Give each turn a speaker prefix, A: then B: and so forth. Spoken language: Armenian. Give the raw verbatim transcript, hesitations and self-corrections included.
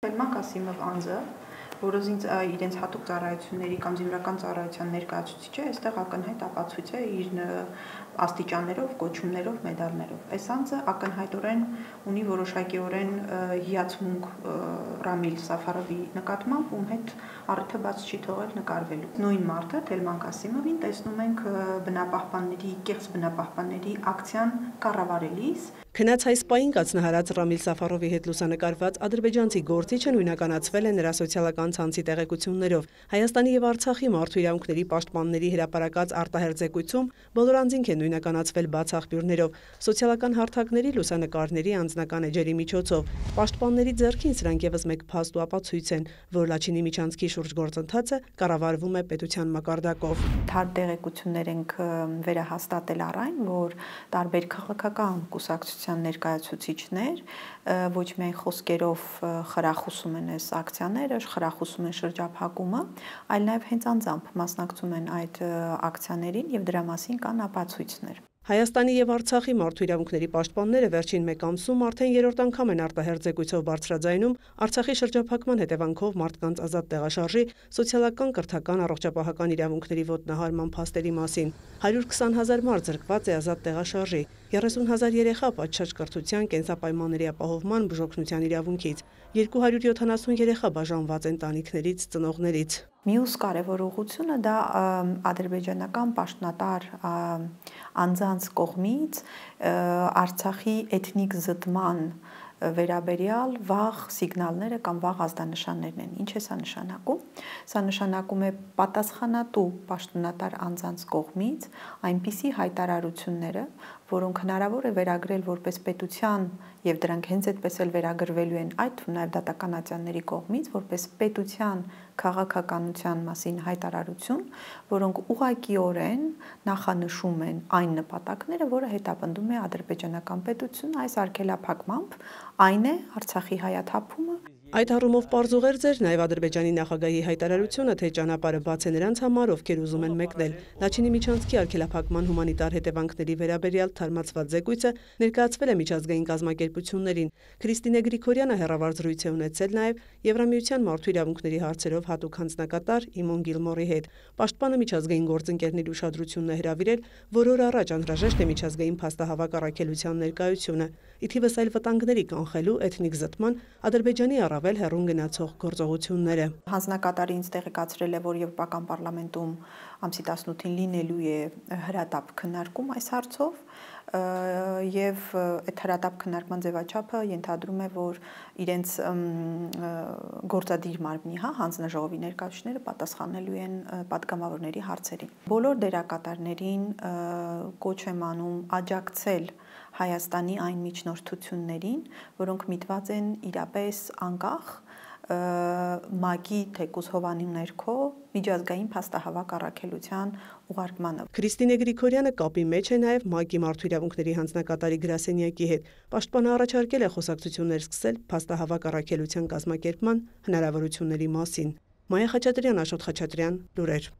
A: Թելման Կասիմով անձը, որը իրենց հատուկ ծառայությունների կամ զինվորական ծառայության ներկայացուցիչ է, այստեղ ակնհայտ ապացույց է իր աստիճաններով, կոչումներով, մեդալներով։ Այս անձը ակնհայտորեն ունի որոշակիորեն հիացմունք Ռամիլ Սաֆարովի նկատմամբ, ում հետ առիթը բաց չի թողել նկարվելու։ Նույն մարդը Թելման Կասիմովին տեսնում ենք բնապահպանների, կեղծ բնապահպանների ակցիան կառավարելիս։
B: Քնած այս պահին կացնահարած Ռամիլ Սաֆարովի հետ լուսանկարված ադրբեջանցի գործիչը նույնականացվել է նրա սոցիալական ցանցի տեղեկություններով։ Հայաստանի եւ Արցախի մարդու իրավունքների պաշտպանների հրապարակած արտահերձեկույցում բոլոր անձինք են նույնականացվել բաց աղբյուրներով, սոցիալական հարթակների, լուսանկարների, անձնական էջերի միջոցով։ Պաշտպանների ձեռքին սրանք եւս մեկ փաստ ու ապացույց են, որ Լաչինի միջանցքի շուրջ գործընթացը կառավարվում է պետության մակարդակով։
A: Թարմ տեղեկություններ ենք վերահաստատել առ այն, որ տարբեր քաղաքական կուսակցության ներկայացուցիչներ ոչ միայն խոսքերով խրախուսում են այս ակցիաները, խրախուսում են շրջափակումը, այլ նաև հենց անձամբ մասնակցում են այդ ակցիաներին եւ դրա մասին կան ապացույցներ։
B: Հայաստանի եւ Արցախի մարդու իրավունքների պաշտպանները վերջին մեկ ամսում արդեն երրորդ անգամ են արտահերձեկույցով բարձրաձայնում Արցախի շրջափակման հետևանքով մարդկանց ազատ տեղաշարժի, սոցիալական, կրթական, առողջապահական իրավունքների ոտնահարման փաստերի մասին։ հարյուր քսան հազար մարդ զրկված է ազատ տեղաշարժի, երեսուն հազար երեխա պատշաճ կրթության, կենսապայմանների ապահովման, բուժօգնության իրավունքից, երկու հարյուր յոթանասուն երեխա բաժանված ընտանիքներից, ծնողներից։
A: Մյուս կարևոր ուղղությունը դա ադրբեջանական պաշտոնատար անձանց կողմից Արցախի էթնիկ զտման վերաբերյալ վաղ սիգնալները կամ վաղ ազդանշաններն են։ Ինչ է սա նշանակում։ Սա նշանակում է պատասխանատու պաշտոնատար անձանց կողմից այնպիսի հայտարարությունները, որոնք հնարավոր է վերագրել որպես պետության եւ դրանք հենց այդպես էլ վերագրվելու են այդ թվում նաեւ դատական ատյանների կողմից որպես պետության քաղաքականության մասին հայտարարություն, որոնք ուղղակիորեն նախանշում են այն նպատակները, որը հետապնդում է ադրբեջանական պետությունը այս արգելափակմամբ, այն է Արցախի հայաթափումը։
B: Այդ առումով պարզուղերձ էր նաև Ադրբեջանի նախագահի հայտարարությունը, թե ճանապարհը բաց է նրանց համար, ովքեր ուզում են մեկնել։ Լաչինի միջանցքի արգելափակման հումանիտար հետևանքների վերաբերյալ թարմացված զեկույցը ներկայացվել է միջազգային կազմակերպություններին։ Քրիստինե Գրիգորյանը հեռավար զրույց է ունեցել նաև Եվրամիության մարդու իրավունքների հարցերով հատուկ հանձնակատար Իմոն Գիլմորի հետ։ Պաշտպանը միջազգային գործընկերների ուշադրությունն է հրավիրել, որ օր առաջ անհրաժեշտ է միջազգային փաստահավաք առաքելության ներկայությունը, ի թիվս այլ վտանգների կանխելու էթնիկ զտման Ադրբեջանի առավել հեռուն գնացող գործողությունները։
A: Հանձնակատարը ինձ տեղեկացրել է, որ Եվրոպական պարլամենտում ամսի տասնութին լինելու է հրատապ քննարկում այս հարցով եւ այդ հրատապ քննարկման ձևաչափը ենթադրում է, որ իրենց գործադիր մարմնի, հա, հանձնաժողովի ներկայացուցիչները պատասխանելու են պատգամավորների հարցերին։ Բոլոր դերակատարներին կոչ եմ անում աջակցել Հայաստանի այն միջնորդություններին, որոնք միտված են իրապես անկախ ՄԱԿ-ի թեկուզ հովանի ներքո միջազգային փաստահավաք առաքելության ուղարկմանը։
B: Քրիստինե Գրիգորյանը կապի մեջ է նաև ՄԱԿ-ի մարդու իրավունքների հանձնակատարի գրասենյակի հետ։ Պաշտպանը առաջարկել է խոսակցություններ սկսել փաստահավաք առաքելության կազմակերպման հնարավորությունների մասին։ Մայա Խաչատրյան, Աշոտ Խաչատրյան, լուրեր։